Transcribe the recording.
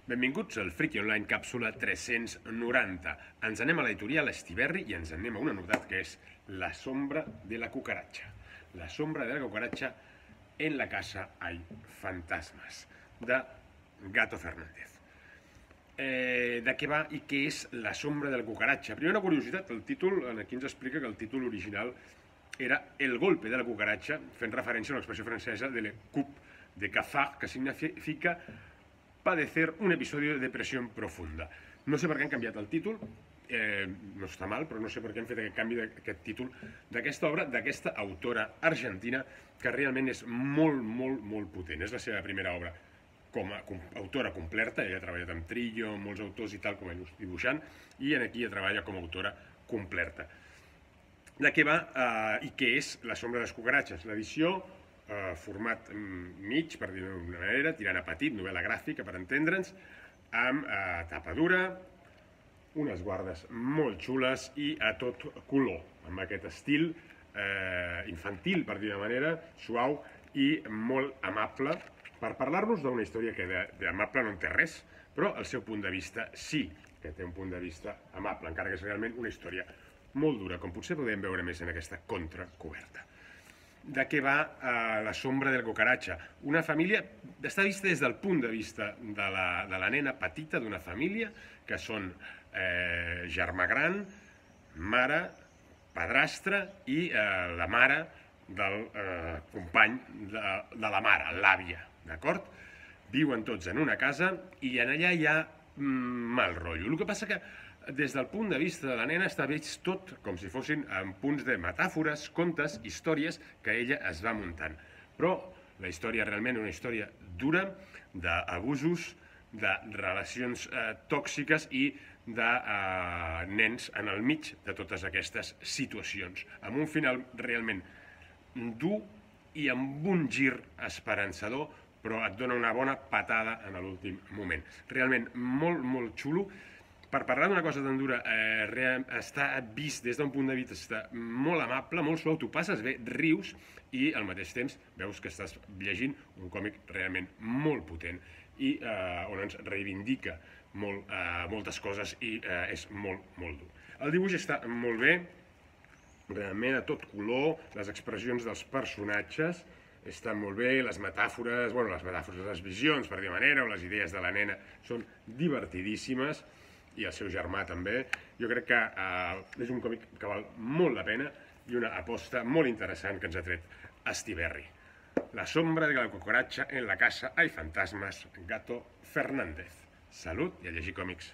Benvinguts al Friki Online càpsula 390. Ens anem a l'editorial Estiberri i ens anem a una novetat que és La sombra de la cucaracha. La sombra de la cucaracha en la casa hay fantasmas, de Gato Fernández. De què va i què és La sombra de la cucaracha? Primera curiositat, el títol aquí ens explica que el títol original era El golpe de la cucaracha, fent referència a l'expressió francesa de le coup de cafard, que significa padecer un episodio de depresión profunda. No sé per què han canviat el títol, no està mal, però no sé per què han fet aquest canvi d'aquest títol d'aquesta obra, d'aquesta autora argentina, que realment és molt potent. És la seva primera obra com a autora completa. Ella ha treballat amb Trillo, molts autors i tal, com a dibuixant, i aquí treballa com a autora completa. De què va i què és La sombra de les cucaratxes? L'edició, format mig, per dir-ho d'una manera, tirant a petit, novel·la gràfica, per entendre'ns, amb tapa dura, unes guardes molt xules i a tot color, amb aquest estil infantil, per dir-ho d'una manera, suau i molt amable, per parlar-nos d'una història que d'amable no en té res, però el seu punt de vista sí que té un punt de vista amable, encara que és realment una història molt dura, com potser podem veure més en aquesta contracoberta. De què va La sombra de la cucaracha? Una família, està vista des del punt de vista de la nena petita d'una família, que són germà gran, mare, padrastre i la mare del company de la mare, l'àvia, d'acord? Viuen tots en una casa i en allà hi ha mal rotllo. El que passa que des del punt de vista de la nena està vist tot com si fossin punts de metàfores, contes, històries que ella es va muntant. Però la història realment és una història dura d'abusos, de relacions tòxiques i de nens en el mig de totes aquestes situacions, amb un final realment dur i amb un gir esperançador, però et dona una bona patada en l'últim moment. Realment molt xulo. Per parlar d'una cosa tan dura, està vist des d'un punt de vista molt amable, molt suau, tu passes bé, rius i al mateix temps veus que estàs llegint un còmic realment molt potent i on ens reivindica moltes coses i és molt dur. El dibuix està molt bé, realment a tot color, les expressions dels personatges estan molt bé, les metàfores, les visions, per dir-ho manera, o les idees de la nena són divertidíssimes, i el seu germà també. Jo crec que és un còmic que val molt la pena i una aposta molt interessant que ens ha tret Estiberri. La sombra de la cucaracha en la casa hay fantasmas, Gato Fernández. Salut i a llegir còmics.